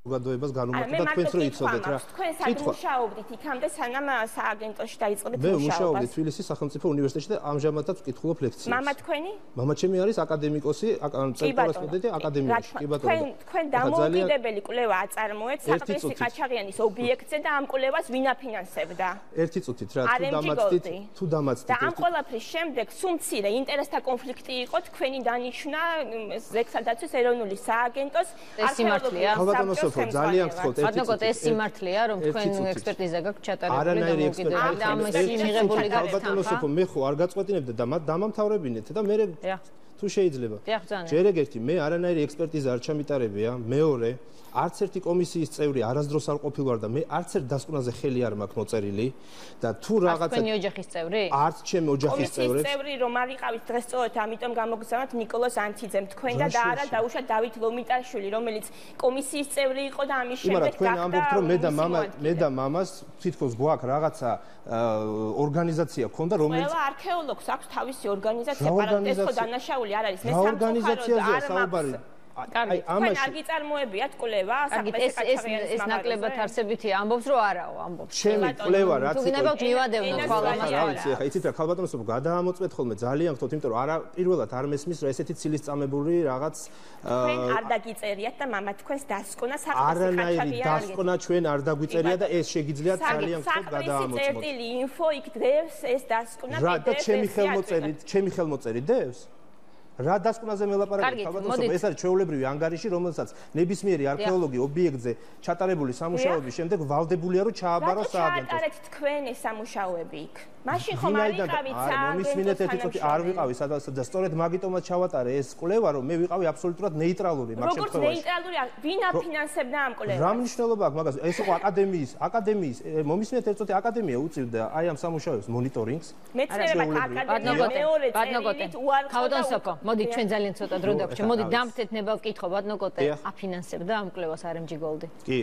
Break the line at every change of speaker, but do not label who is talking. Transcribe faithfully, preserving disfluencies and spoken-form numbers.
საზოგადოებას განუმარტო და თქვენც რო იცოდეთ რა.
თქვენ სად მუშაობდით იქამდე სანამ სააგენტოში დაიწყებთ
მუშაობას? მე
მუშაობას?
მუშაობდი თბილისის სახელმწიფო უნივერსიტეტში და ამჟამადაც ვკითხულობ ლექციებს.
მამა თქვენი?
მამა ჩემი არის აკადემიკოსი, კორესპონდენტი აკადემიაში. კი ბატონო.
თქვენ თქვენ დამოუკიდებელი კვლევა აწარმოეთ საყდრისი ყაჩაღიანის ობიექტზე და ამ კვლევას ვინ აფინანსებდა?
ერთი წუთით რა, თუ დამაცდით, თუ დამაცდით.
და ამ ყველაფრის შემდეგ სულ მცირე ინტერესთა კონფლიქტი იყო თქვენი დანიშვნა ზეგსადაცვის ეროვნული სააგენტოს
არქეოლოგიის
საბჭოს ძალიან გთხოვთ ერთი
წუთი. ეს სიმართლეა რომ თქვენ ექსპერტიზა გაქვთ ჩატარებული და მოგიდებით და ამაში მიღებული
გახსნა. მე ხო არ გაწყვეტინებდა და მათ დამამთავრებინეთ და მე თუ შეიძლება. ჯერ ეგერთი მე არანაირი ექსპერტიზა არ ჩამიტარებია, მეორე არც ერთი კომისიის წევრი არასდროს არ ყოფილვარ და მე არც ერთ დასკვნაზე ხელი არ მაქვს მოწერილი და თუ რაღაცა
თქვენი ოჯახის წევრი?
არც ჩემი ოჯახის წევრი.
კომისიის წევრი რომ არ იყავით დღესწორად, ამიტომ გამოგზავნოთ ნიკოლოზ ანთიძემ თქვენ და და არა დაუშვათ დავით ლომიტაშვილი, რომელიც კომისიის წევრი იყო და ამის შემდეგ
გახდა. თქვენ ამბობთ რომ მე და მამა მე და მამას თითქოს გვაქვს რაღაცა ორგანიზაცია ქონდა რომელიც
ყველა არქეოლოგს აქვს თავისი ორგანიზაცია, პარალელურად ეს ხო დანაშაული არ არის. მე სამწუხაროდ არ მაქვს აი ამაში არ გიწარმოებიათ კვლევა
ეს ეს ნაკლებად არსებითია ამბობს რომ არაო ამბობს
ჩემი კვლევა რაც
იყო გინებავთ მივადევნოთ ხვალამას
რა ვიცი ახლა იცით რა ხალბატონოსო გადაამოწმეთ ხოლმე ძალიან გთხოვთ იმიტომ რომ არა პირველად არ მესმის რომ ესეთი ცილის წამებული რაღაც
თქვენ არ დაგიწერიათ და მამა თქვენს დასკვნა საყდრისი
არანაირი დასკვნა ჩვენ არ დაგვიწერია და ეს შეგიძლიათ ძალიან გთხოვთ გადაამოწმოთ
წერტილი ინფო იქ დევს ეს დასკვნა
რა და ჩემი ხელმოწერით ჩემი ხელმოწერით დევს რა დასკვნაზე მელაპარაკეთ ხალბატონო ეს არის ჩვეულებრივი ანგარიში რომელსაც ნებისმიერი არქეოლოგი ობიექტზე ჩატარებული სამუშაოების შემდეგ ვალდებულია რომ ჩააბაროს სააგენტოს.
ჩაატარეთ თქვენ ეს სამუშაოები იქ. მაშინ ხომ არ იყავით
სააგენტოს თანამშრომელი. არ ვიყავი სადაც და სწორედ მაგიტომაც ჩავატარე ეს კვლევა რომ მე ვიყავი აბსოლუტურად ნეიტრალური მაგ შემთხვევაში.
როგორც ნეიტრალური ვინ აფინანსებდა ამ კვლევას?
რა მნიშვნელობა აქვს მაგას? ეს იყო აკადემიის აკადემიის მომისმენთ ერთ წუთი აკადემია უწევდა აი ამ სამუშაოებს მონიტორინგს.
მეცნიერებათა აკადემია მეორე წერილით
უარყოფა მოდი ჩვენ ძალიან ცოტა დრო დაგვჭირდა. მოდი დამთეთ ნება ვკითხო ბატონო კოტე აფინანსებდა ამ კვლევას არ ემ ჯი გოლდი.
კი.